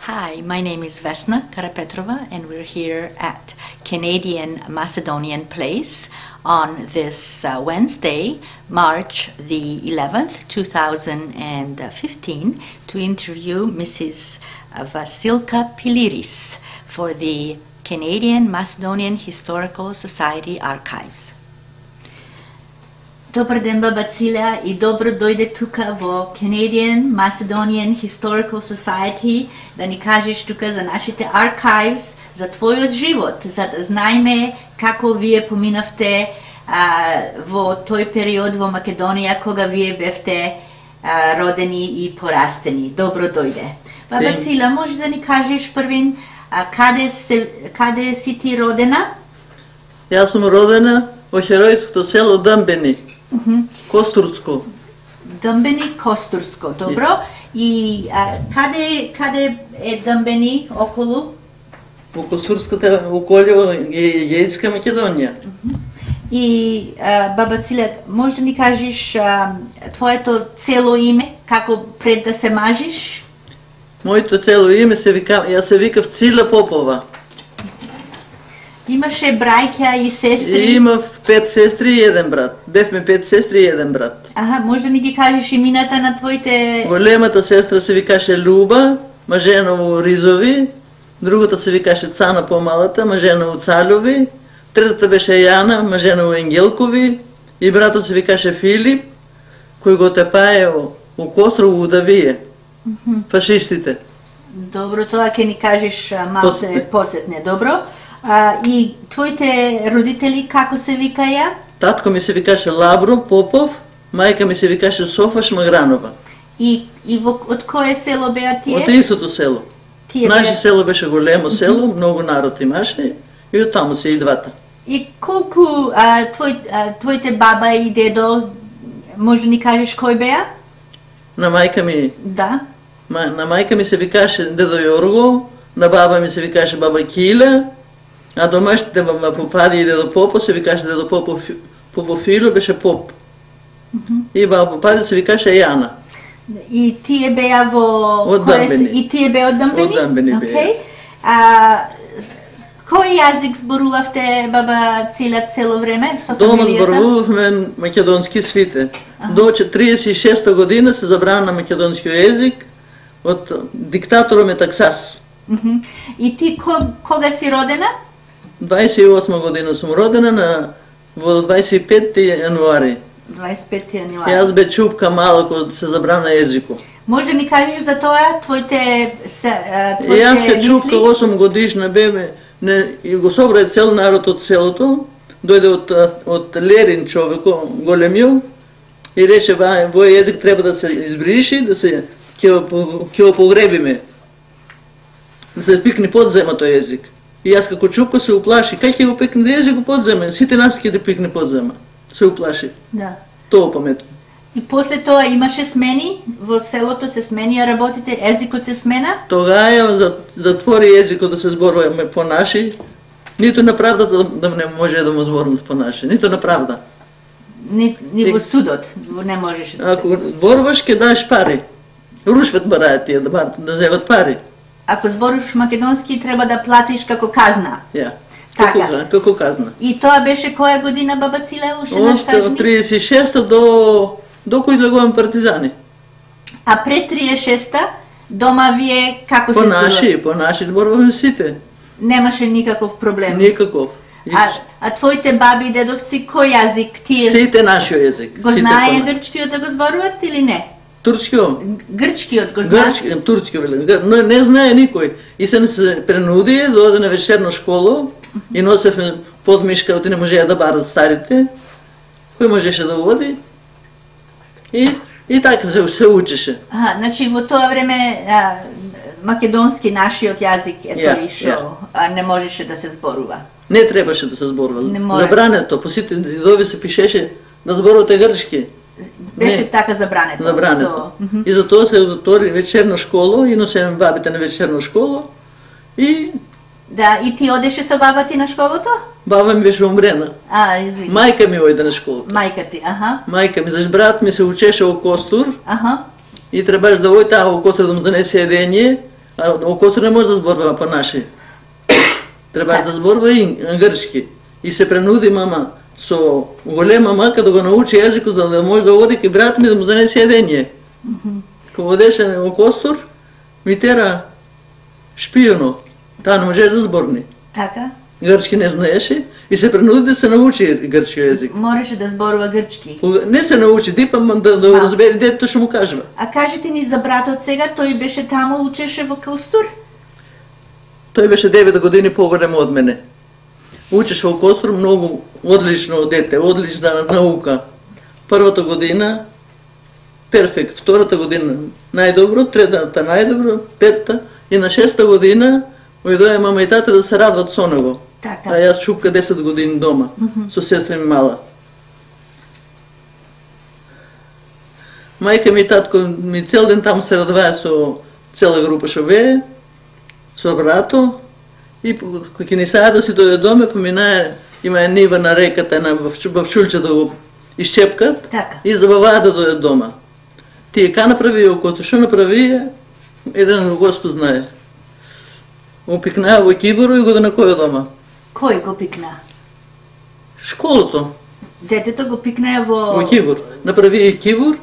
Hi, my name is Vesna Karapetrova, and we're here at Canadian Macedonian Place on this Wednesday, March the 11th, 2015, to interview Mrs. Vasilka Piliris for the Canadian Macedonian Historical Society Archives. Добар ден, баба Цилја, и добро дојде тука во Canadian Macedonian Historical Society да ни кажеш тука за нашите archives, за твојот живот, за да знаеме како вие поминавте во тој период во Македонија кога вие бевте родени и порастени. Добро дојде. Баба Цилја, може да ни кажеш првин каде си ти родена? Јас сум родена во хероичкото село Дъмбени. Костурско. Дъмбени, Костурско, добро. И каде е Дъмбени околу? Во Костурската околу Јејцка Македонија. И баба Цилја, може да ни кажеш твоето цело име, како пред да се мажиш? Моето цело име јас се викав Цила Попова. Имаше браќа и сестри? Имав 5 сестри и 1 брат. Бевме 5 сестри и 1 брат. Аха, може да ми ги кажеш имината на твоите... Големата сестра се викаше Люба, мажена во Ризови, другата се викаше Цана помалата, мажена во Цалови, третата беше Јана, мажена во Енгелкови, и братот се викаше Филип, кој го тепаео во Кострово Удавие, фашистите. Добро, тоа ќе ни кажеш малку се посетне, добро. И твоите родители како се викаја? Татко ми се викаше Лабро Попов, мајка ми се викаше Софа Шмагранова. И од кое село беа тие? Од истото село. Наше село беше големо село, многу народ имаше и од таму се и двата. И колку твоите баба и дедо, може да ни кажеш кој беа? На мајка ми? Да. На мајка ми се викаше дедо Јорго, на баба ми се викаше баба Киле, а домашните баба Попади и дедо Попо се викаше дедо Попофило, беше Поп. И баба Попади се викаше Јана. И тие беа во... Од Дъмбени. И тие беа од Дъмбени? Од Дъмбени беа. Кој јазик зборувавте, баба Цилја, цело време со фамилијата? Дома зборувавме македонски свите. До 36 година се забрана македонски јазик од диктаторот Метаксас. И ти кога си родена? 28 година сум родена во 25 јануари. 25 јануари. Јас бе чупка мала кога се забрана јазикот. Може да ми кажеш за тоа твоите Јас ке чупка 8 годишна бебе, и го собра цел народ од селото, дојде од Лерин човеко, големио, и рече вој јазик треба да се избриши, да се ќе го погребиме. Да се пикне под зема тој јазик. И јас како чупка се уплаши, кај ќе го пикне јазик под зема? Сите нас ќе да пикне под зема. Се уплаши. Да. Тоа паметувам. И после тоа имаше смени, во селото се сменија работите, езикот се смена? Тогава затвори езикот да се зборуваме по наши, ниту на правдата да не може да му зборуваме по наши, ниту на правда. Ни во судот не можеше да се. Ако зборуваш ќе даш пари. Рушват бараат тие да зеват пари. Ако зборуваш македонски треба да платиш како казна. Ја. Така. Како казна. И тоа беше која година, баба Цилја, уште наш кажи? Од 36-та до кој излегувам партизани. А пред 36-та дома вие како се зборувате? По наши зборуваме сите. Немаше никаков проблем. Никаков. А твоите баби и дедовци кој јазик тие? Сите нашиот јазик. Го знае грчкиот да го зборуват или не? Турскиот? Грчкиот го знае? Турскиот, но не знае никој. И се принуди да оде на вечерна школа и носевме подмишка, оти не можеа да барат старите. Кој можеше да води? И така се учеше. Значи во тоа време македонски нашиот јазик ишо, не можеше да се зборува. Не требаше да се зборува. Забрането, по сите зидови се пишеше да зборувате грчки. Беше така забрането. Забрането. И затоа се отвори вечерна школа и носеме бабите на вечерна школа и... Да, и ти одеше со баба ти на школото? Баба ми беше умрена. Извини. Мајка ми ојде на школото. Мајка ти, Мајка ми, заш брат ми се учеше во Костур. Аха. И требаш да ојде во Костур да му занесе едење, А во Костур не може да зборува по наши. Треба да зборува и грчки. И се принуди мама со голема мака да го научи јазикот, да може да оди кај брат ми да му занесе јадење. Кога одеше во Костур, ми тера шпијуно. Таа не можеше да зборни. Така? Грчки не знаеше и се принуди да се научи грчки јазик. Можеше да зборува грчки. Не се научи, дипам да разбере детето што му кажува. А кажете ни за братот сега, тој беше таму, учеше во Костур? Тој беше 9 години поголем од мене. Учеше во Костур, многу одлично дете, одлична наука. Првата година перфект, втората година најдобро, третата најдобро, петта и на 6-та година дојде мама и тата да се радват со него. Така. А јас чупка 10 години дома, со сестра ми мала. Мајка ми и татко ми цел ден таму се радвае со цела група што бее, со брато, и кога ќе ни саја да си дојде доме, поминае, има една нива на реката, една в чулче да го исчепкат, Така. и забаваа да дојде дома. Тие ка направи окото, што направи, еден Господ знае. Опикнаа во киворо и го донекоја дома. Кој го пикна? Школото, Детето го пикна во... во кивор. Направи и кивор,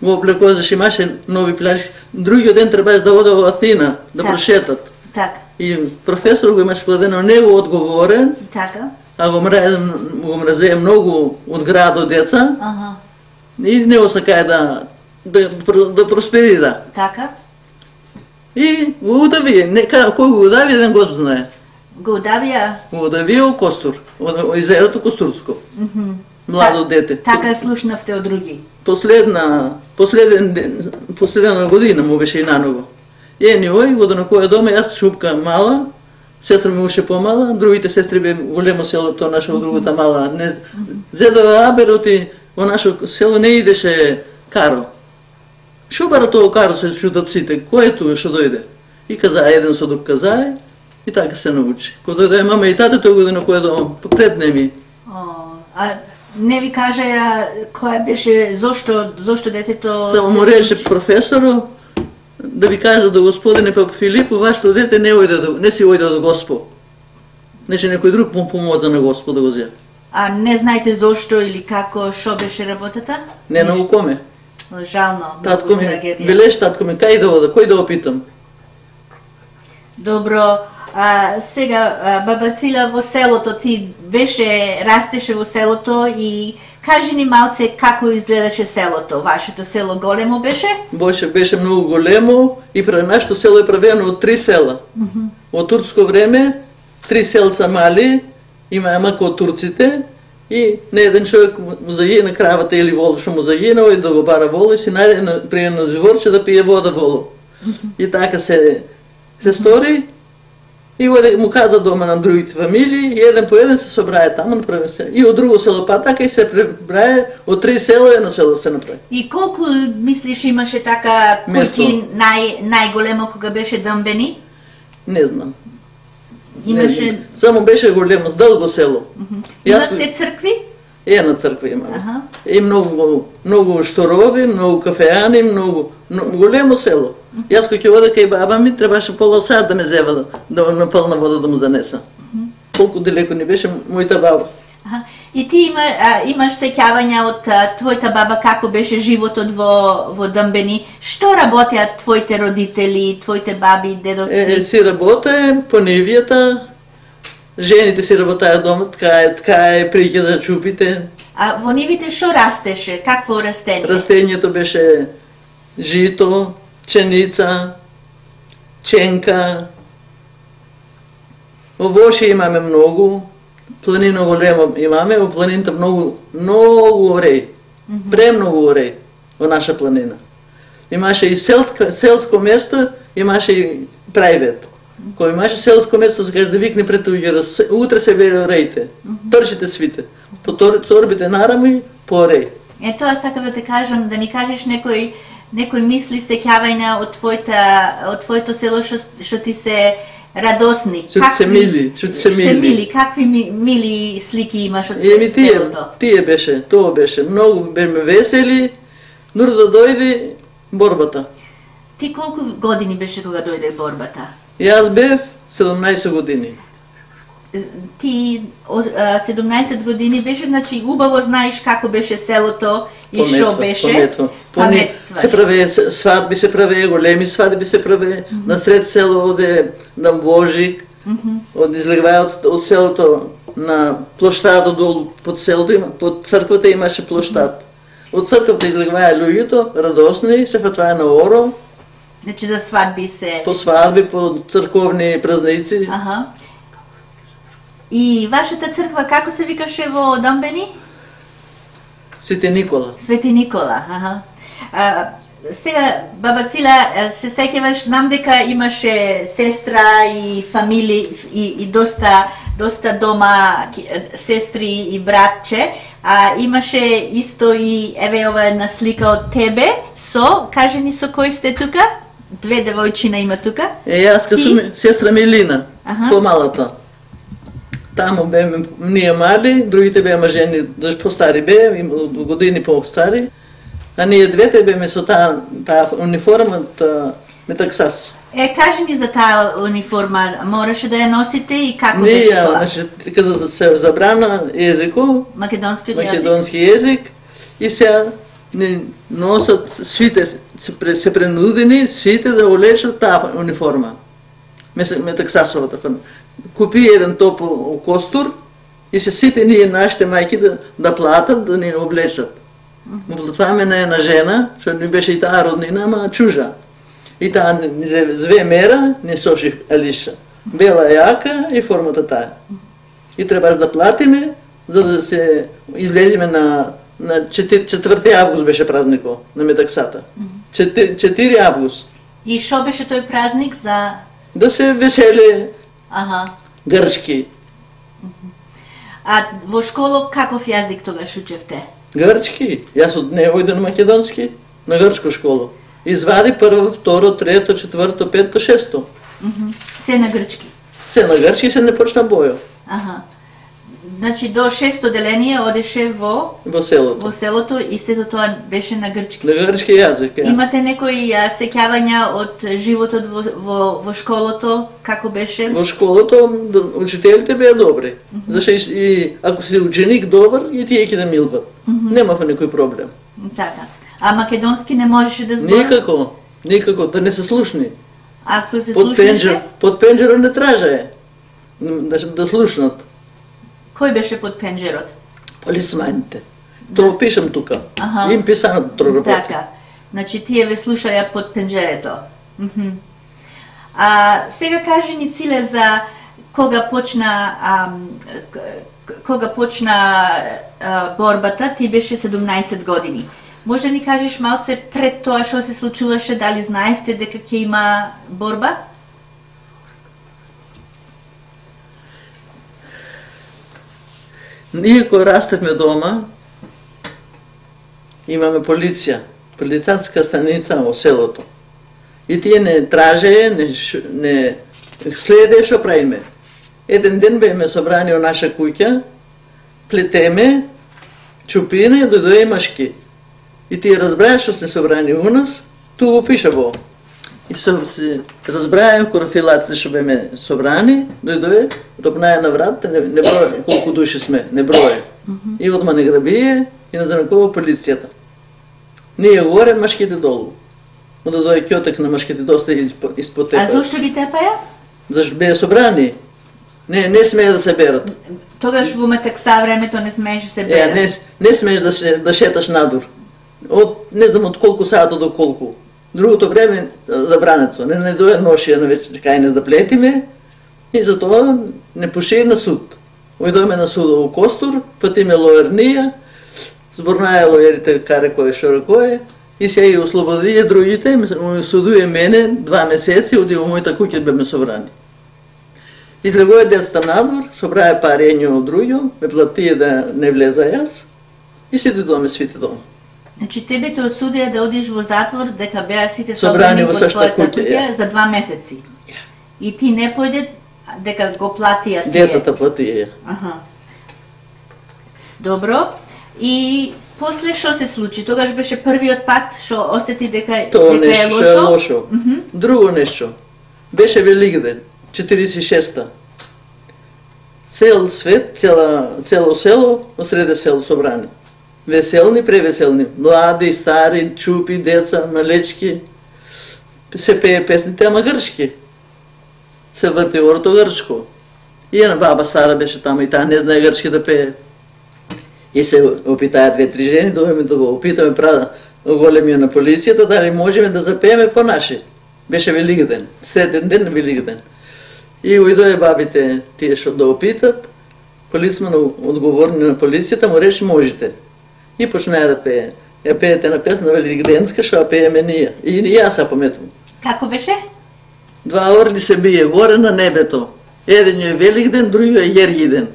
го облекоа, зашто имаше нови плажи. Другиот ден требаше да оде во Атина, да Така. прошетат. Така. И професор го има складено него одговорен, Така. а го мразее многу од градот деца, Аха. и него сакае да просперира. Така. И го удави, кој го удави, еден Господ знае. Го удавија. Го удави во Костур, од езерото Костурско. Младо дете. Така слушнавте од други. Последна година му беше и наново. Ени ој, го донекоја дома, јас чупка мала, сестра ми уште помала, другите сестри бе големо село, тоа наше од другата мала. Зедова абероти, во нашо село не идеше каро. Шо бара тоа каро се чутат сите, кој е тоа што дојде? И казаа, еден со друг казае, и така се научи. Кога дојде мама и тата, тој го донекоја дома, пред неми. А не ви кажа која беше, зошто детето... Само му рече професоро, да ви кажа до господине Папа Филипо, вашето дете не си ојде од Господ. Неше некој друг му помоза на Господ да го зеја. А не знаете зошто или како, шо беше работата? Не наукоме. Жално, Татко многу ми, трагедија. велеш татко ми, кај да ода, кој да опитам? Добро, сега баба Цила во селото, ти растеше во селото и кажи ни малце како изгледаше селото. Вашето село големо беше? Беше многу големо и нашето село е правено од 3 села. Во турско време 3 селца мали, има мака од турците, и не еден човек му загина кравата или воло што му загина, ој да го бара воло и си најде при едно живорче да пие вода воло. И така се стори, и му каза дома на другите фамилии, и еден по еден се собрае таму, направи се. И од друго село па така и се пребрае, од 3 села едно село се направи. И колку мислиш имаше така куќи најголемо кога беше Дъмбени? Не знам. Имаше... Само беше големо, дълго село. Имавте цркви? Една црква имаме. И многу шторови, многу кафеани, многу големо село. Јас кога ќе ода кај баба ми, требаше пола сат да ме зева да напълна вода да му занеса. Колку далеко ни беше мојата баба. И ти имаш сеќавања од твојата баба како беше животот во Дъмбени? Што работеа твоите родители, твоите баби, дедовци? Си работе по нивијата, жените си работаја дома, ткае, приќе за чупите. А во нивите што растеше? Какво растение? Растението беше жито, пченица, ченка. Овоше имаме многу. Планина голема имаме, во планината многу ореј. Премногу ореј во наша планина. Имаше и селско место, имаше и прајвет. Кој имаше селско место, се каже да викне пред луѓето, утре се бере орејте, трчите свите. По торбите нарамо по ореј. Тоа сакам да те кажам, да ни кажеш некој мисли сеќавања од твоето село што ти се радосни. Што се мили. Какви мили слики имаш од селото? Тие беше, тоа беше. Многу беме весели, но да дојде борбата. Ти колку години беше кога дојде борбата? Јас бев 17 години. Ти 17 години беше, значи убаво знаеш како беше селото и што беше. Паметваш. Се правее свадби, се правее големи свадби, се правее насред село оде на Божик, излегваја од селото на плоштадот долу под селото, под црквата имаше плоштад. Од црквата излегваја луѓето, радосни, се фатваја на оро. Значи за свадби се... По свадби, по црковни празници. Аха. И вашата црква како се викаше во Домбени? Свети Никола. Свети Никола, аха. Сега, баба Цила, се сеќаваш, знам дека имаше сестра и фамили и доста дома сестри и братче, а имаше исто и еве ова една слика од тебе кажи ни со кој сте тука? Две девојчина има тука. Јас сум сестра Милина, помалата. Таму беме ние млади, другите беа жени, постари беа, години постари. А ние двете беме со таа униформа од Метаксас. Кажи ни за таа униформа, мораше да ја носите и како беше тоа? Не, каза се забрана езико, македонски език, и сега не носат сите, се принудени сите да олечат таа униформа. Метаксасовата. Купи еден топол костур и се сите ние нашите мајки да платат, да ни облечат. Платваме на една жена, што ни беше и таа роднина, ама чужа. И таа ни зве мера, ни соши Алиша. Бела јака и формата таа. И требаш да платиме, за да се излеземе на 4 август беше празникот на Метаксата. 4 август. И шо беше тој празник за... Да се веселе грчки. А во школа каков јазик тогаш учевте? Грчки. Јас од не ојден македонски, на грчко школа. Извади прво, второ, трето, четврто, пето, шесто. Се на грчки? Се на грчки, се не почна бојо. Значи до шесто деление одеше во селото и сето тоа беше на грчки. На грчки јазик, Имате некои сеќавања од животот во школото, како беше? Во школото учителите беа добри. Зашто и ако си ученик добар, и тие ќе да милват. Немава некој проблем. Така. А македонски не можеше да зборува? Никако, да не се слушни. Ако се слушнеше? Под пенџерот не тражае да слушнат. Кој беше под пенџерот? Полицманите. Тоа пишам тука. Им писано трорапот. Така. Значи тие ве слушаја под пенџерето. Сега кажи ни, Циле, за кога почна борбата, ти беше 17 години. Може да ни кажеш малце пред тоа што се случуваше, дали знаевте дека ќе има борба? Ние кога растевме дома, имаме полиција, полицатска станица во селото. И тие не тражеја, не следеја што правиме. Еден ден беме собрани во наша куќа, плетеме, чупина и дојдоја машки. И тие разбраја што сте собрани у нас, ту го пиша во. И се разбраја корофилаците што беме собрани, дојдоја, ропнаја на врат, не броја колку души сме, не броја. И одма не грабие и назанакова полицијата. Ние горе, машките долу. Онда дојде ќотек на машките доста испод тепа. А зошто ги тепаја? Зашто беа собрани. Не смеја да се берат. Тогаш во Метакса времето не смееше се берат? Не смееш да шеташ надур. Не знам од колку саато до колку. Другото време забрането. Не доја ношија на вече кај не да плетиме и затоа не пошири на суд. Ојдојме на судот во Костур, патиме лоернија, зборнаја лоерите каре кој шо кој и се и ослободија другите, судуе мене 2 месеци, оди во мојата куќа беме собрани. Излегоја децата надвор, собраја пари едно од друго, ме платија да не влеза јас и се дојдоме свите дома. Значи тебе те осудија да одиш во затвор дека беа сите собрани во твојата куќа за 2 месеци. И ти не појде дека го платија тие. Децата платија. Добро. И После што се случи? Тогаш беше првиот пат што осети дека Тоа дека е нешто е лошо. Друго нешто. Беше Великден, 46-та. Цел свет, цело село, осреде село собрани. Веселни, превеселни. Млади, стари, чупи, деца, малечки. Се пее песните, ама грчки. Се врти орто грчко. И една баба стара беше таму и таа не знае грчки да пее. И се опитаја две-три жени, дојме да го опитаме големија на полицијата, дали можеме да запееме по наши. Беше Великден, среден ден на Великден. И уидоe бабите тие што да опитат, полицман одговорни на полицијата му реши можете. И почнаа да пее. Ја пеете на песна великденска што ја пееме ние. И јас ја пометвам. Како беше? Два орли се бие горе на небето. Еден е Великден, другиот е Јергиден.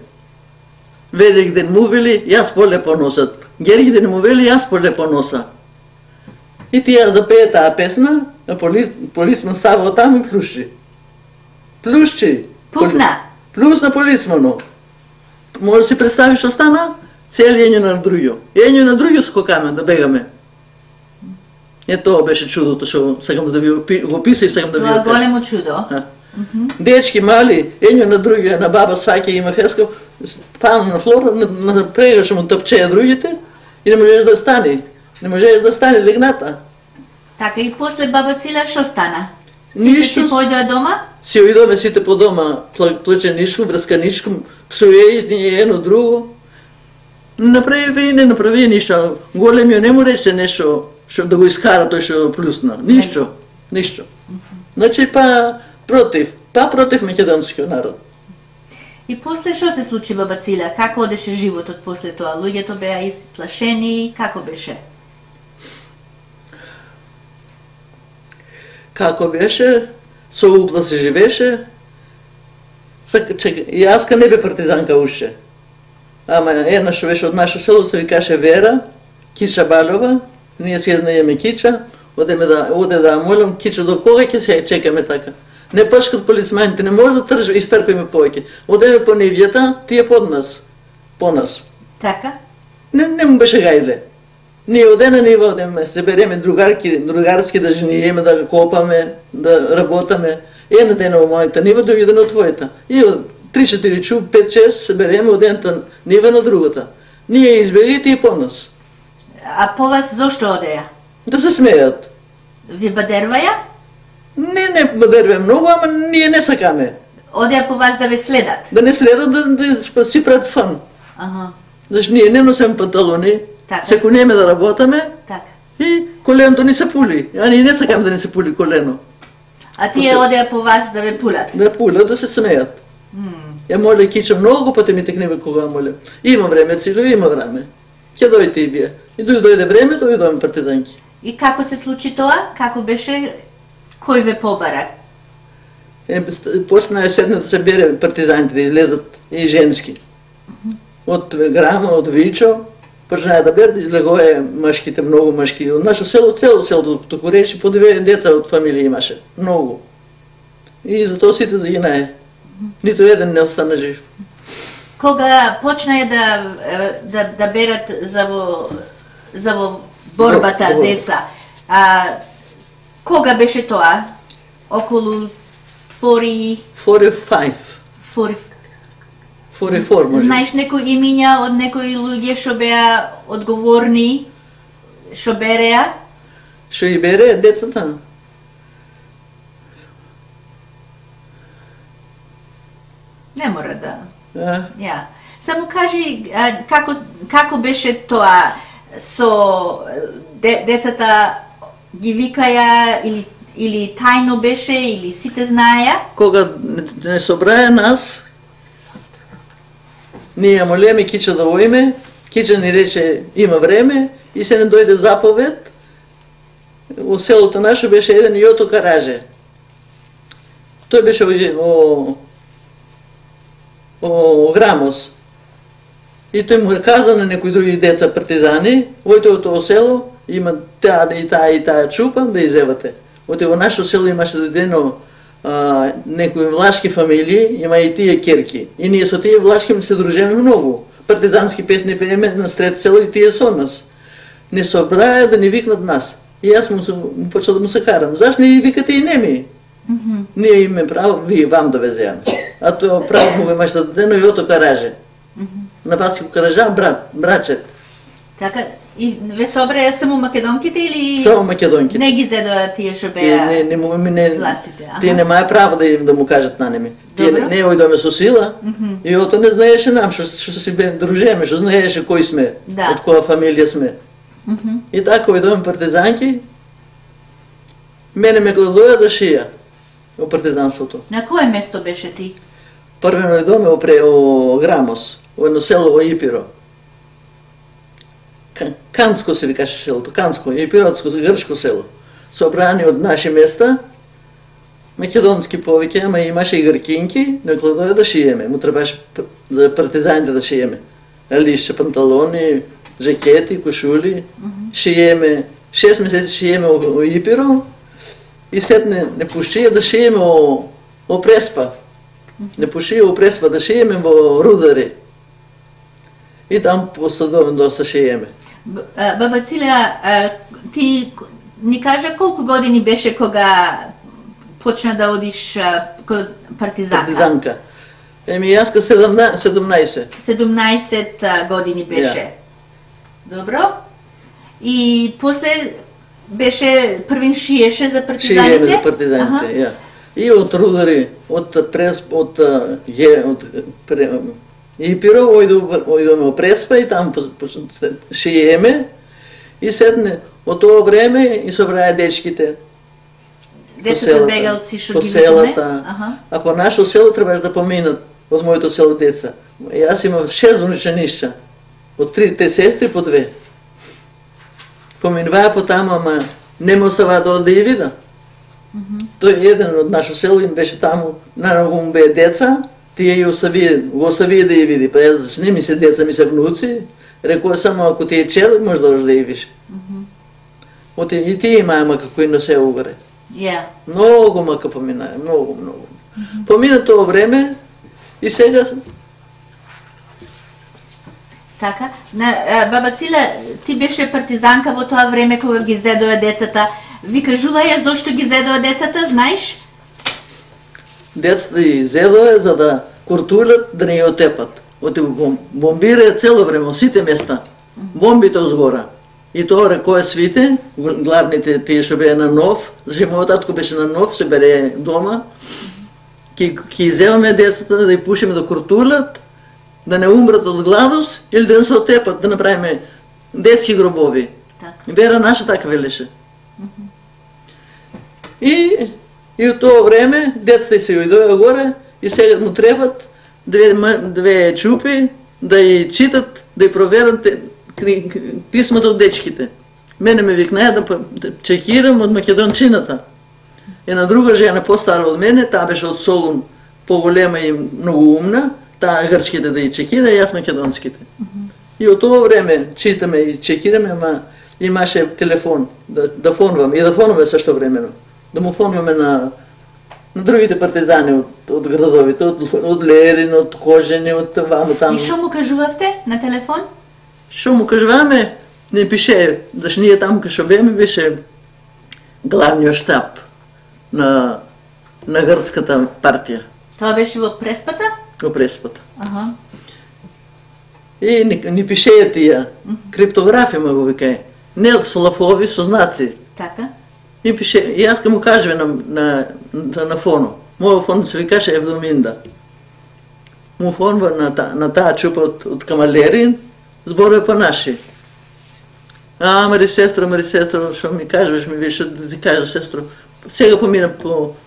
Великден му вели, јас поле поносат. Јергиден му вели, јас поле поноса. И тие запее таа песна, а полицман става таму и плюшчи. Плюшчи. Пукна. Плюсна полицмано. Може да си представиш што стана? Цели ење на другиот. Ење на другиот скокаме да бегаме. Тоа беше чудото што сакам да ви го писа и сакам да ви го кажам. Тоа големо чудо. Дечки мали, ење на другиот, на баба сваќа има феска, пана на флора, прегаше му топчеја другите и не можеш да стани. Не можеш да стане легната. Така и после баба Циле што стана? Ништо. Сите си појдоа дома? Си оидоме сите по дома, плаченичко, врсканичко, псуе ние едно друго. Направи и не направи ништо. Големиот не му рече нешто што да го искара тој што плюсна. Ништо. Ништо. Значи против македонскиот народ. И после што се случи баба Циле? Како одеше животот после тоа? Луѓето беа исплашени, како беше? Како беше, со упла се живеше. Јаска не бе партизанка уште. Ама една што беше од нашо село, се викаше Вера, Кича Балова, ние се знаеме Кича, оде да молам, Кича, до кога ќе се чекаме така? Не пашкат полицманите, не може да изтрпиме повеќе. Одеме по нивјата, тие под нас, по нас. Така? Не му беше гајле. Ние оде на нива одеме, се береме другарски да жениеме, да копаме, да работаме. Една дена во мојата нива, други ден од твојата. И од 3-4 чуп, 5-6 се береме од едната нива на другата. Ние избегите и по нас. А по вас зошто одеја? Да се смејат. Ви бадерваја? Не бадерваја многу, ама ние не сакаме. Одеја по вас да ве следат? Да не следат, да си пред фан. Зашто ние не носиме панталони, секој неме да работаме, и коленото ни се пули. А ние не сакаме да ни се пули колено. А тие одеја по вас да ве пулат? Да пулат, да се смејат. Ја моле Кича многу пати ми текнеме кога моле. Има време, Цило, има време. Ќе дојдете и вие. И дојде времето, и дојдеме партизанки. И како се случи тоа? Како беше? Кој ве побара? Почна седна да се бере партизаните, да излезат и женски. Од Грама, од Вичо, почнаа да бере, излегоe машките, многу машки. Од нашо село, цело село, току речи, по 2 деца од фамилија имаше. Многу. И затоа сите загинае. Ниту еден не остана жив. Кога почнаа да берат за во борбата деца, кога беше тоа? Околу 45. 44 може. Знаеш некои имиња од некои луѓе што беа одговорни, што береа? Што и береа децата? Не мора да. Ја. Само кажи како беше тоа со децата ги викаја или тајно беше или сите знаеја? Кога не собраја нас, ние молеме Кича да оиме, Кича ни рече има време и се не дојде заповед. Во селото наше беше еден Јото Караже. Тој беше о Грамос. И тој му каза на некои други деца партизани, ојте од тоа село, има таа и таа чупа да изевате. Оте во нашо село имаше додено некои влашки фамилии, има и тие керки. И ние со тие влашки се дружиме многу. Партизански песни пееме на сред село и тие со нас. не собраа да ни викнат нас. И јас му почел да му се карам. Зашто не викате и неми? Ние имаме право, вие вам довеземе. А тоа право му го имаш да даде, но и ото караже. На баско каража, брачет. Така, и ве собраја само македонките или... Само македонките. Не ги зедоа тие што беа властите? Тие немаја право да му кажат на неми. Тие не ојдоме со сила, и ото не знаеше нам, што си бе дружеме, што знаеше кој сме, од која фамилија сме. И така ојдоме партизанки, мене ме гладоја да шија во партизанството. На кое место беше ти? Првено ојдоме во Грамос, во едно село во Ипиро. Канско се викаше селото, Канско, Ипиротско, грчко село. Собрани од наши места, македонски повеќе, ама имаше и гркинки, не гладоја да шиеме. Му требаше за партизаните да шиеме. Лишче, панталони, жакети, кошули, шиеме, 6 месеци шиеме во Ипиро и сетне не пушчија да шиеме во Преспа. Не пушчија во Преспа да шиеме во Рудари. И там посадовен доста шиеме. Баба Цилеа, ти ни кажа колку години беше кога почна да одиш кога партизанка? Партизанка. Јаска 17. 17 години беше. Добро. И после беше првин шиеше за партизаните? Шиеме за партизаните, ја. И од Рудари, од Ипиро, ојдоме во Преспа и таму шиеме и седне од тоа време и собраја дечките. Децата бегалци што ги викаме? А по нашо село требаш да поминат од моето село деца. Јас имам 6 внученишча, од 3 сестри по 2. Поминуваа по таму, ама не ме оставаа да оде и вида. Тој еден од нашо село им беше таму, најмногу му беа деца, тие го оставија да ја види. Па јас, не ми се деца, ми се внуци, рекоа само ако ти е челик, може да одиш да ја видиш. И тие имаа мака кои не се угаре. Многу мака поминаа, многу. Помина тоа време и сега... Така, баба Циле, ти беше партизанка во тоа време кога ги зедоа децата. Ви кажуваја зошто ги зедоа децата, знаеш? Децата ги зедоа за да куртулат, да не ја отепат. Бомбираја цело време, во сите места. Бомбите озгора. И тоа рекоја свите, главните тие што беа на нов, зашто мојот татко беше на нов, се бере дома, ки земаме децата да ја пушиме да куртулат, да не умрат од гладост или да не се отепат, да направиме детски гробови. Вера наша така велеше. И од тоа време децата се ојдоа горе и сега му требат две чупи да ја читат, да ја проверат писмата од дечките. Мене ме викнаја да чекирам од македончината. Една друга жена постара од мене, таа беше од Солун, поголема и многу умна, таа грчките да ја чекира, и јас македонските. И од тоа време читаме и чекираме, ама имаше телефон, да фонваме, и да фонваме сашто времено. Да му фонваме на другите партизани од градовите, од Лерин, од Кожени, од ваму таму. И шо му кажувавте на телефон? Шо му кажуваме, не пише, зашто ние таму кај шо беме беше главниот штаб на грцката партија. Тоа беше во Преспата? Во Преспата. И ни пишеја тие, криптографија го викај, не со лафови, со знаци. Така. И пише, и јас му кажеме на фоно. Мојот фон се викаше Евдоминда. Му фонва на таа чупа од Камалерин, зборува по наши. Мари сестро, што ми кажеш, ми више да ти кажа, сестро. Сега помина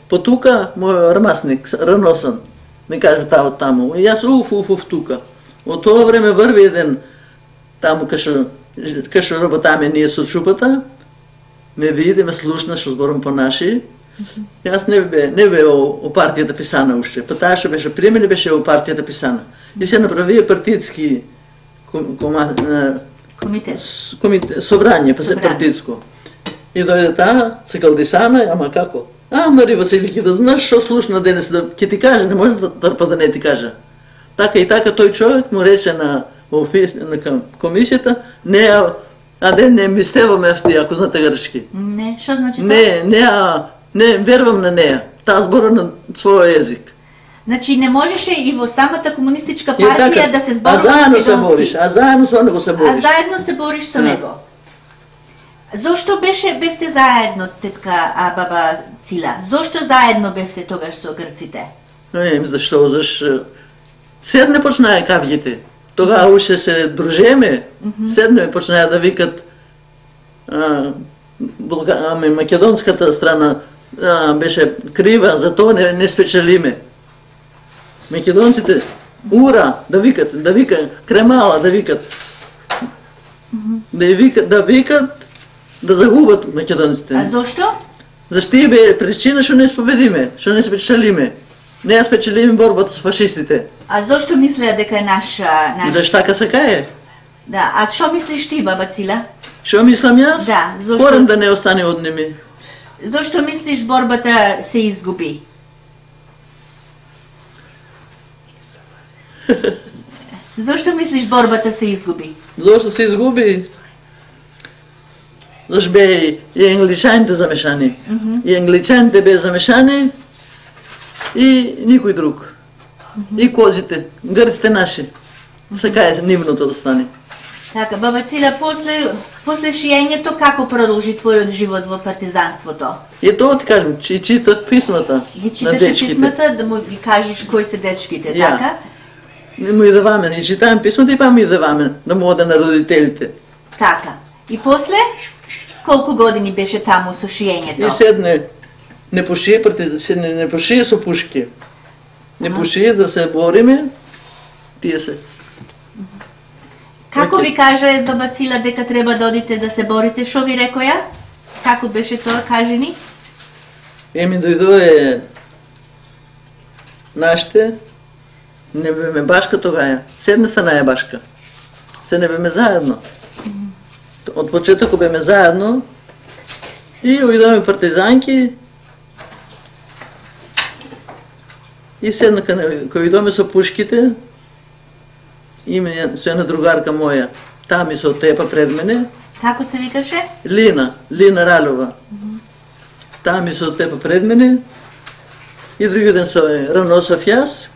по тука, мој армасник, раносан, ми кажа таа од таму. И јас уф тука. Од тоа време врви еден таму кај што работаме ние со чупата, ме види, ме слушна што зборам по наши. Јас не бе о партијата писана уште. Па таа што беше при мене беше о партијата писана. И се направија партитски собрање, па се партитско. И дојде таа, се калдисана, ама како? Мари Василики, да знаеш што слушна денес, да ќе ти каже, не може да трпа да не ти каже. Така и така тој човек му рече на комисијата, не не мистево мефти, ако знаете грчки. Не, што значи тоа? Не верувам на неа. Таа збора на свој език. Значи не можеше и во самата комунистичка партија да се зборува на македонски. А заедно со него се бориш. А заедно се бориш со него. Зошто бевте заедно, тетка баба Цила? Зошто заедно бевте тогаш со грците? Зашто? Седне почнаа кавјите. Тогава уште се дружеме. Седне почнаа да викат македонската страна беше крива, затоа не спечелиме. Македонците ура да викат кремала да викат. Да викат да загубат македонците. А зошто? Зашто бе причина што не победиме, што не спечелиме. Не ја спечелиме борбата со фашистите. А зошто мислеа дека е наш... Зашто така се кае? Да, а што мислиш ти, баба Цила? Што мислам јас? Да, зошто... Корен да не остане од ними. Зошто мислиш борбата се изгуби? Зошто мислиш борбата се изгуби? Зошто се изгуби? Зашто бе и англичаните замешани. И англичаните бе замешани и никој друг. И козите, грците наши. Сега е нивното да стане. Така, баба Цила, после шиењето како продолжи твојот живот во партизанството? И тоа ти кажам, читав писмата ги читаше писмата, да му ги кажеш кои се дечките, така? Му и даваме, и читавам писмата и па му и даваме, да му ода на родителите. Така. И после, колку години беше таму со шиењето? И седне, не пошие со пушки. Не пошие да се бориме, тие се. Како ви каже баба Цила дека треба да одите да се борите? Шо ви рекоја? Како беше тоа, кажи ни? Дојдоe нашите, не беме башка тогаја. Седна страна е башка. Се не беме заедно. Од почетокот беме заедно и уидоме партизанки и седна кога уидоме со пушките. Име со една другарка моја, таа ми се отепа пред мене. Како се викаше? Лина Ралова. Таа ми се отепа пред мене и други ден се раносав јас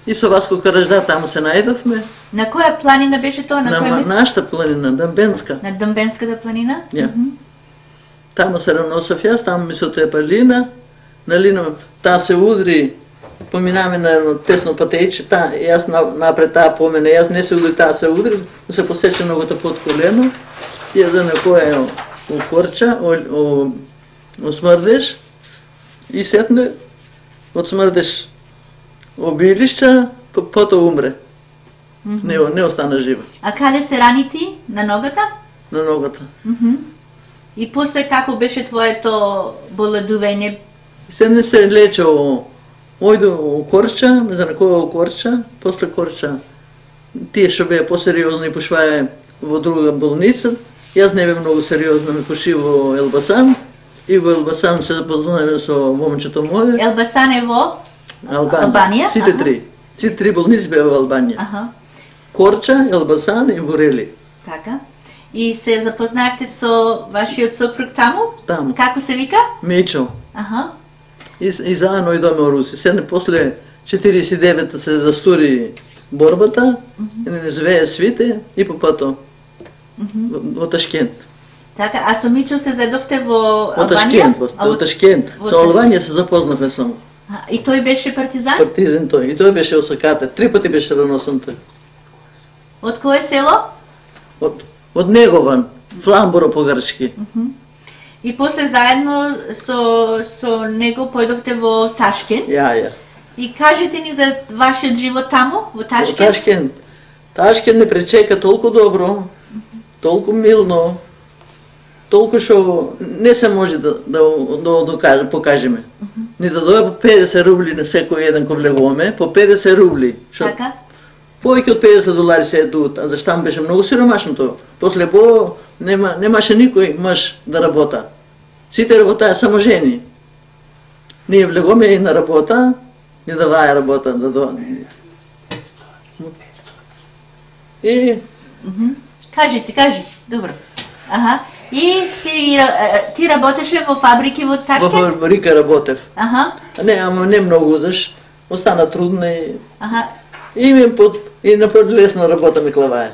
и со Васко Каражда таму се најдовме. На која планина беше тоа? На нашата планина, Дъмбенска. На Дъмбенската планина? Ја. Таму се раносав јас, таму ми се отепа Лина. На Лина таа се удри. Поминаме на едно тесно патејче, јас напред таа по мене, јас не се удри, таа се удри, се посече ногата под колено, јас да некоја окорча, осмрдеш и сетне од смрдеш обилишча, потоа умре. Не остана жива. А каде се рани ти? На ногата? На ногата. И после како беше твоето боледување? Се се лече Ојде у Корча, не знам кој Корча, после Корча, тие што беа посериозни пошваја во друга болница, јас не бе многу сериозно, ме поши во Елбасан, и во Елбасан се запознаваме со момчето моје. Елбасан е во Албанија? Сите три болници беа во Албанија. Корча, Елбасан и Борели. Така. И се запознаевте со вашиот сопруг таму? Таму. Како се вика? Мечо. И заедно идоме во Руси. Седне после 49-та се растури борбата, и не живее свите и по пато во Ташкент. Така, а со Мичо се заедовте во Албанија? Во Ташкент. Со Албанија се запознавме само. И тој беше партизан? Партизан тој. И тој беше осаката. 3 пати беше раносан тој. Од кое село? Од Негован, Фламбуро по грчки. И после заедно со него појдовте во Ташкент? Ја. И кажете ни за вашиот живот таму, во Ташкент? Во Ташкент. Ташкент не пречека толку добро, толку милно, толку што не се може да покажеме. Ни да дојде по 50 рубли на секој еден кој влегуваме, по 50 рубли. Така? Повеќе од $50 се едуат, а зашто беше многу сиромашно тоа. После немаше никој мъж да работа. Сите работаа само жени. Ние влегоме и на работа, ни даваја работа. Кажи. Добро. Аха. И ти работеше во фабрики во Ташкент? Во фабрика работев. Аха. Не многу, заш остана трудно и... Аха. И на лесна работа ми клавае.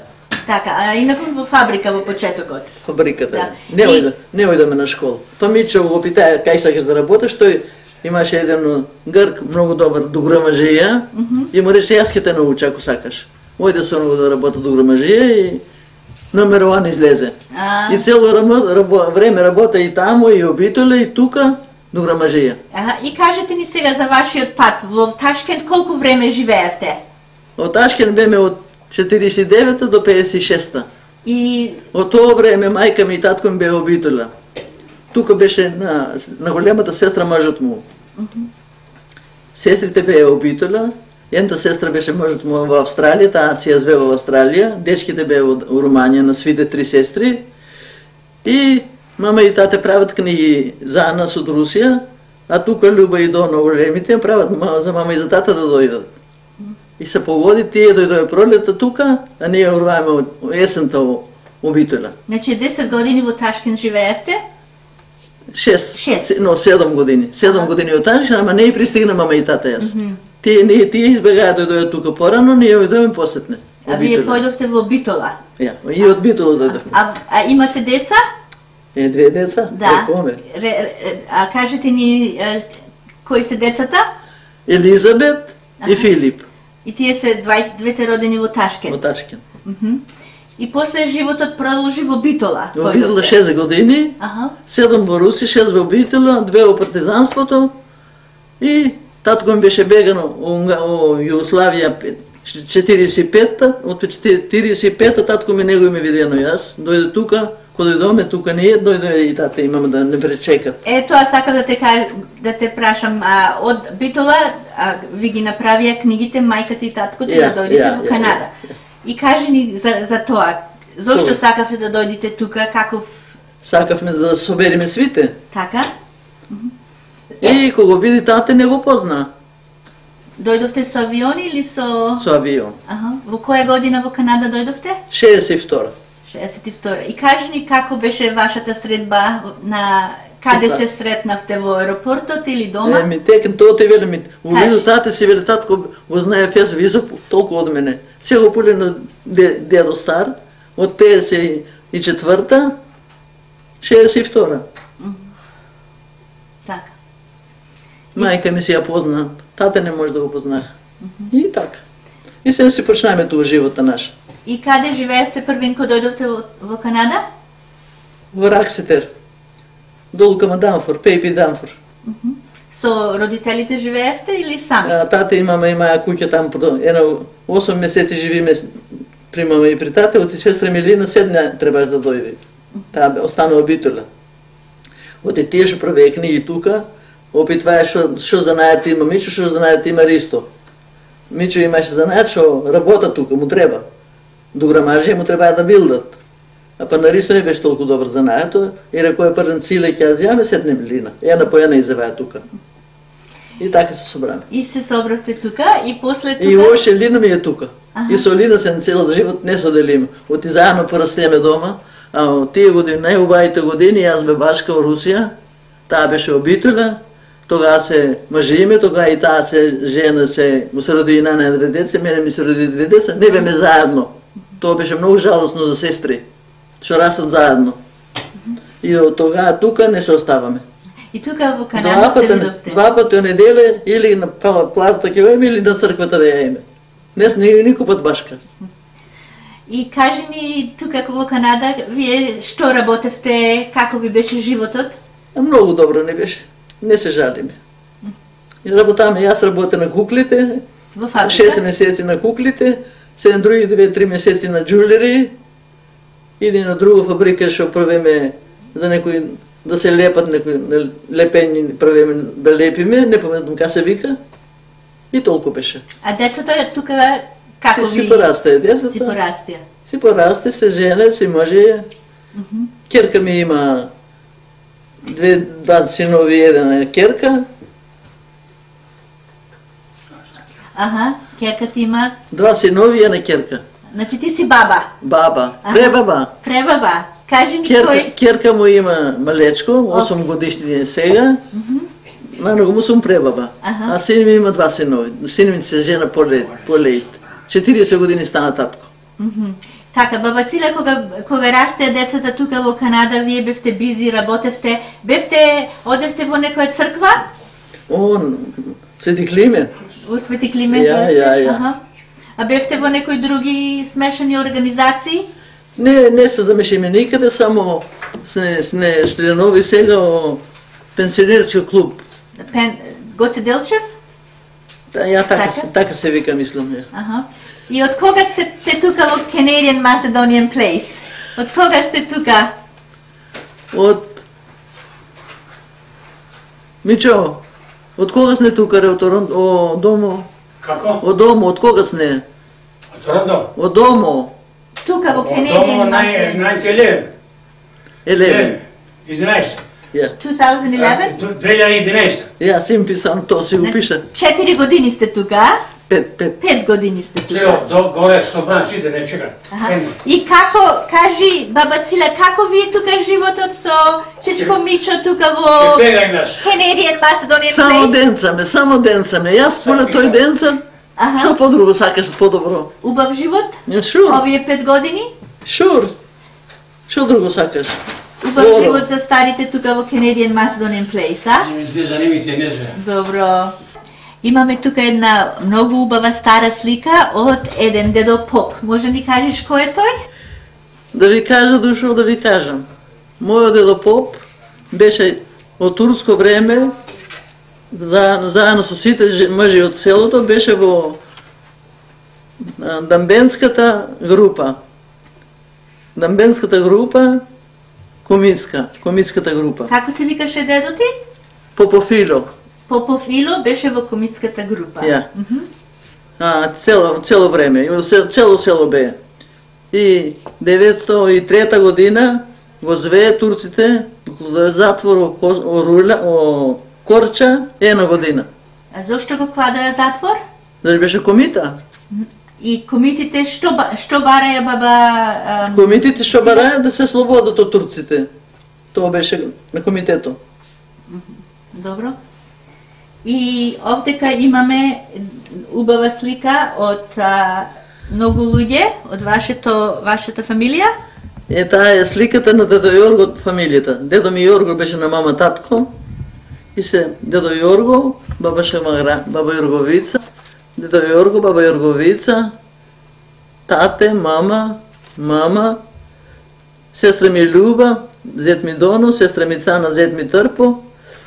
Така, а инаку во фабрика во почетокот? Фабриката, да. Не ојдеме на школа. Па Мичо го питае кај сакаш да работиш, тој имаше еден грк, многу добар до грамажија, и му рече, јас ќе те науча ако сакаш. Ојде со него да работа до грамажија и номер 1 излезе. И цело време работа и таму, и обителе, и тука, до грамажија. И кажете ни сега за вашиот пат. Во Ташкент колку време живеевте? Во Ташкент беме од 49-та до 56-та. И... Од тоа време мајка ми и татко ми бе обителя. Тука беше на големата сестра мажот му. Сестрите беа обителя. Едната сестра беше мажот му во Австралија, таа си ја зве во Австралија. Дечките беа во Руманија на свите 3 сестри. И мама и тате прават книги за нас од Русија, а тука Люба и Дона големите прават за мама и за тата да дојдат. И се погоди, тие дојдоа пролетта тука, а ние урваеме од есента во обителя. Значи 10 години во Ташкент живеевте? 7 години. 7 години од Ташкент, ама не и пристигна мама и тата јас. Тие избегаа да дојдоа тука порано, ние дојдоме посетне. А вие појдовте во Битола? Ја, и од Битола дојдовме. А имате деца? 2 деца? Да. А кажете ни кои се децата? Елизабет и Филип. И тие се двете родени во Ташкент? Во Ташкент. И после животот продолжи во Битола? Во Битола 6 години, 7 во Руси, 6 во Битола, 2 во партизанството и татко ми беше бегано во Југославија 45-та, од 45-та татко ми него ми видено јас, дојде тука, кога дојдоме тука ние, дојде и тата и мама да не пречекат. Тоа сакам да те прашам, од Битола ви ги направија книгите мајката и таткото да дојдете во Канада. И кажи ни за тоа, зошто сакавте да дојдете тука, каков... Сакавме за да собериме свите. Така? И кога види тате не го позна. Дојдовте со авион или со... Со авион. Во која година во Канада дојдовте? 62. 62. И кажи ни како беше вашата средба, на каде се сретнавте, во аеропортот или дома? Тоа те велим, увидо тате си вели, татко го знае фес висок толку од мене. Се го пуле на дедо стар, од 54-та, 62-та. Така. Мајка ми си ја позна, тате не може да го познае. И така. И сега си почнеме тоа живота наша. И каде живеевте првин кога дојдовте во Канада? Во Ракситер. Долу кама Данфор, Пейпи Данфор. Со родителите живеевте или сам? Тата и мама имаја куќа таму, 8 месеци живиме при мама и при тата, оти сестра Милина 7 требаш да дојде. Таа останува Битола. Оти тие што правеа книги тука, опитваа што знаат има Мичо, што знаат има Ристо. Мичо имаше знаат што работа тука, му треба. До грамажија му требаа да билдат. А па на Ристо не беше толку добар занаето, и рекој првен циле ќе јас јаме 7 Милина. Една по една изеваа тука. И така се собраме. И се собравте тука и после тука... И още Лина ми е тука. И со Лина се цел живот не соделиме. Оти заедно порастеме дома, а тие години, најубавите години, јас бе башка во Русија, таа беше обителя, тогава се мажиме, тогава и таа се жена се роди на 2 деца, мене ми се роди 2 деца, не беме заедно. Тоа беше многу жалосно за сестри, што растат заедно. И од тогава тука не се оставаме. И тука во Канада се видовте? 2 пати од неделе или на плазата ќе одиме или на црквата да ја име. Никој пат башка. И кажи ни тука во Канада, вие што работевте, како ви беше животот? Многу добро не беше. Не се жалиме. И работаме, јас работя на куклите, во фабрика? 6 месеци на куклите, 7 други 2-3 месеци на джулери, иди на друга фабрика што правиме за некои да се лепат некои лепени правиме да лепиме, не помнам како се вика. И толку беше. А децата тука како ви? Си порастаа децата. Си порастија. Си порасте, се жене, си мъже. Керка ми има 2 синови и 1 керка. Аха, керка ти има? 2 синови и 1 керка. Значи ти си баба. Баба, пребаба. Пребаба. Кажи ми кој... Керка му има малечко, 8 годишни е сега. Најногу му сум пребаба. А син ми има 2 синови. Син ми се жена по-лејт. 40 години стана татко. Така, баба Цила, кога расте децата тука во Канада, вие бевте бизи, работевте, одевте во некоја црква? Свети Климент. Во Свети Климент? Ја. А бевте во некои други смешани организации? Не се замешаме никаде, само сме членови сега во пенсионерски клуб. Гоце Делчев? Ја така се вика, мислам. И од кога сте тука во Canadian Macedonian Place? Од кога сте тука? Мичо, од кога сте тука, од домо? Како? Од домо, од кога сте? Од Торонто? Од домо. Тука во Canadian Macedonian. 11. 2011? 2011. Ја, си им писам, то си го пиша. 4 години сте тука, 5 години сте тука. Сега, горе со нас, сите не чекат. И како, кажи, баба Цила, како ви е тука животот со чечко Мичо тука во Canadian Macedonian Place? Само денцаме. Јас поле тој денца, што подруго сакаш подобро? Убав живот? Шур. Овие 5 години? Шур. Што друго сакаш? Убав живот за старите тука во Canadian Macedonian Place, а? Добро. Имаме тука една многу убава стара слика од еден дедо поп. Може ни кажеш кој е тој? Да ви кажа, дошол да ви кажам. Мојот дедо поп беше од турско време, заедно со сите мъжи од селото, беше во дамбенската група. Дамбенската група, комитската група. Како се викаше дедо ти? Попофило. Попофило беше во комитската група. Ја. Цело време, цело село бе. И 903 година го звее турците во затвор о Корча 1 година. А зошто го кладоја затвор? Зашто беше комита. И комитите што бараја баба... Комитите што бараја да се слободат од турците. Тоа беше на комитето. Добро. И овдека имаме убава слика од многу луѓе од вашата фамилија. Таа е сликата на дедо Јорго од фамилијата. Дедо ми Јорго беше на мама татко. И се дедо Јорго, баба Јорговица, дедо Јорго, баба Јорговица, тате, мама, сестра ми Љуба, зет ми Доно, сестра ми Цана, зет ми Трпо,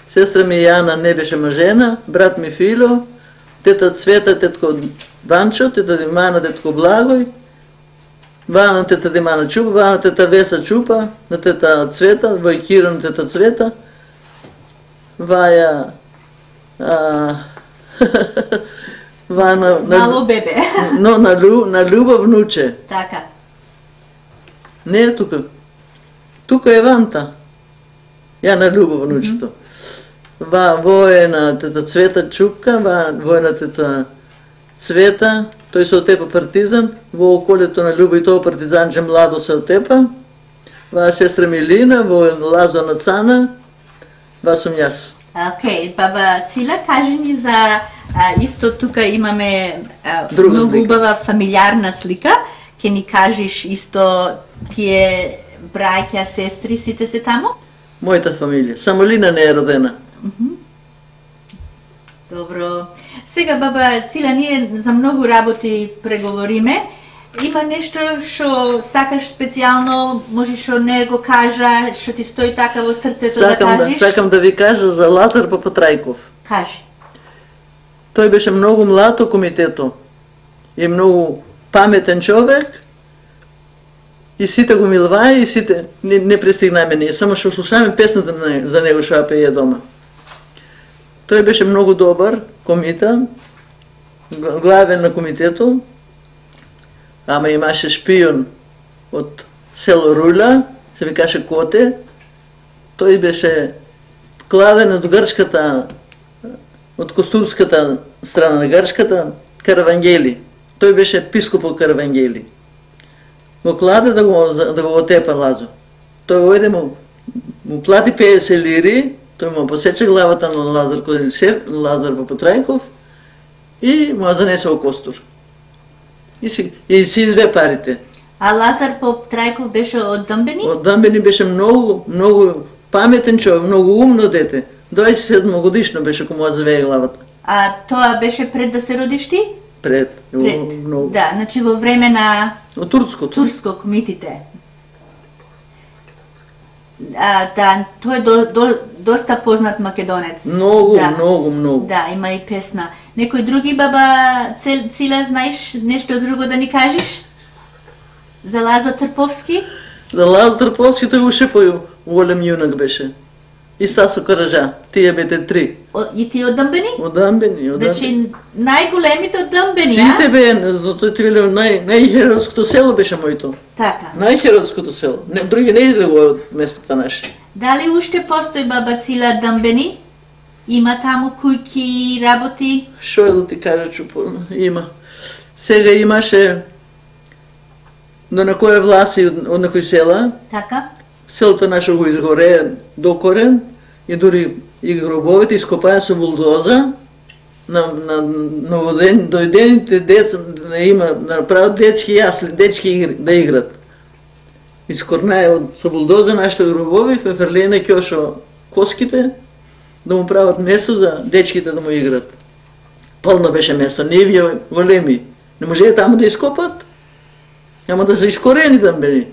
сестра ми Јана не беше мажена, брат ми Фило, тета Цвета, тетко Ванчо, тета Димана, тетко Благој, Вана, тета Димана Чупа, Вана, тета Веса Чупа, на тета Цвета, Војкиро, на тета Цвета, Ваја, Вана... Мало бебе. Но на Љуба внуче. Така. Не е тука. Тука е Ванта. Ја на Љуба внучето. Во е на тета Цвета Чупка, во е на тета Цвета, тој се отепа партизан, во околето на Љуба и тоа партизанче младо се отепа. Ва сестра Милина, во е Лазо на Цана, ва сум јас. Океј, баба Цила, кажи ни за исто тука имаме многу убава фамилиарна слика. Ке ни кажеш исто тие браќа, сестри, сите се таму? Мојата фамилија. Само Лина не е родена. Добро. Сега, баба Цила, ние за многу работи преговориме. Има нешто што сакаш специјално, може што не го кажа, што ти стои така во срцето да кажеш? Сакам да ви кажа за Лазар Папатрајков. Кажи. Тој беше многу млад во комитето и многу паметен човек и сите го милваја и сите не пристигнаме ние, само што слушаме песната за него што ја пее дома. Тој беше многу добар комита, главен на комитето, ама имаше шпион од село Руля, се викаше Коте. Тој беше кладен од грчката, од костурската страна на грчката, Каравангели. Тој беше епископ од Каравангели. го кладе да го отепа Лазо. Тој ојде му плати 50 лири, тој му посече главата на Лазар Козинцев, Лазар Папатрајков и му занесе во Костур. И си изве парите. А Лазар Папатрајков беше од Дъмбени? Од Дъмбени беше многу паметен човек, многу умно дете. 27 годишно беше кога му завее главата. А тоа беше пред да се родиш ти? Пред. Многу. Да, значи во време на Од турското. Турско комитите. Да, тој е доста познат македонец. Многу, да. многу. Да, има и песна. Некој други баба Цила, знаеш нешто друго да ни кажеш? За Лазо Трповски? За Лазо Трповски тој уште голем јунак беше. И Стасо Караджа, тие бете три. И ти од Дъмбени? Од Дъмбени. Значи најголемите од Дъмбени, Сите бе, затоа ти велев најхеродското село беше моето. Така. Најхеродското село. Други не излегува од местата наши. Дали уште постои баба Цила Дъмбени? Има таму кујки работи? Шо е да ти кажа, чупо, има. Сега имаше до на која власи од некој села. Така. Селото наше го изгорее до корен и дури и гробовите ископаја со булдоза на дојдените деца има направат дечки јасли, дечки да играт. Искорнае со булдоза нашите гробови, феферлене кјошо коските да му прават место за дечките да му играт. Полно беше место, нивија големи. Не можеја таму да ископат, ама да се искорени Дъмбени.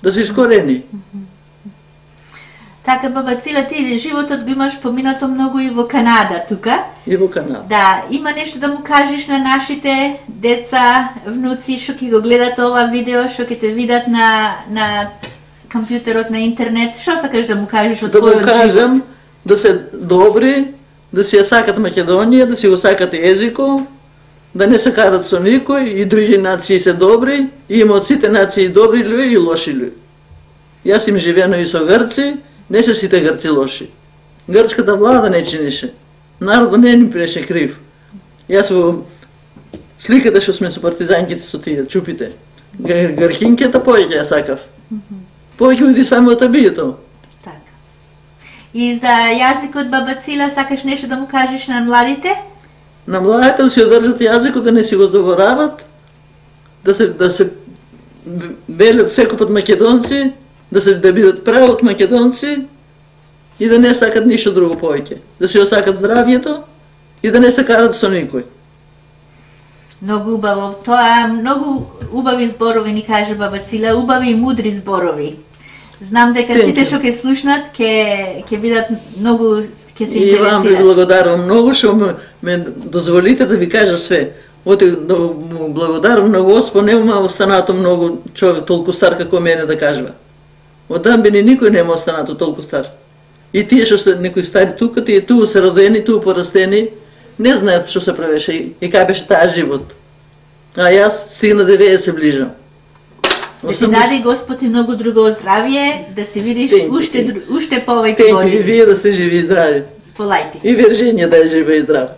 Да се искорени. Така, баба Цила, ти животот го имаш поминато многу и во Канада тука. И во Канада. Да, има нешто да му кажеш на нашите деца, внуци, што ќе го гледат ова видео, што ќе те видат на компјутерот, на интернет. Што сакаш да му кажеш од твојот живот? Да му кажам да се добри, да си ја сакат Македонија, да си го сакат езико, да не се карат со никој, и други нации се добри, и има од сите нации добри луѓе и лоши луѓе. Јас им живеено и со грци, не се сите грци лоши. Грчката влада не чинише. Народот не ни беше крив. Јас во сликата што сме со партизанките со тие чупите, грхинката повеќе ја сакав. Повеќе уди сваме од табието. Така. И за јазикот, баба Цила, сакаш нешто да му кажеш на младите? На младите да си одржат јазикот, да не си го заборават, да се велат секој македонци, да бидат прави од македонци и да не сакат ништо друго повеќе. Да си осакат здравието и да не се карат со никој. Многу убаво. Тоа многу убави зборови ни каже баба Цила, убави и мудри зборови. Знам дека сите што ќе слушнат ќе бидат многу, ќе се интересираат. И вам ви благодарам многу што ме дозволите да ви кажа све. Да му благодарам на Господ, нема останато многу човек толку стар како мене да кажува. Од Дъмбени никој нема останато толку стар. И тие што се некои стари тука, тие туу се родени, туу порастени, не знаат што се правеше и кај беше таа живот. А јас стигна 90 ближам. Да ти даде Господ и многу друго здравие, да се видиш уште повеќе години. И вие да сте живи и здрави. Сполајте. И Виржинија да е жива и здрава.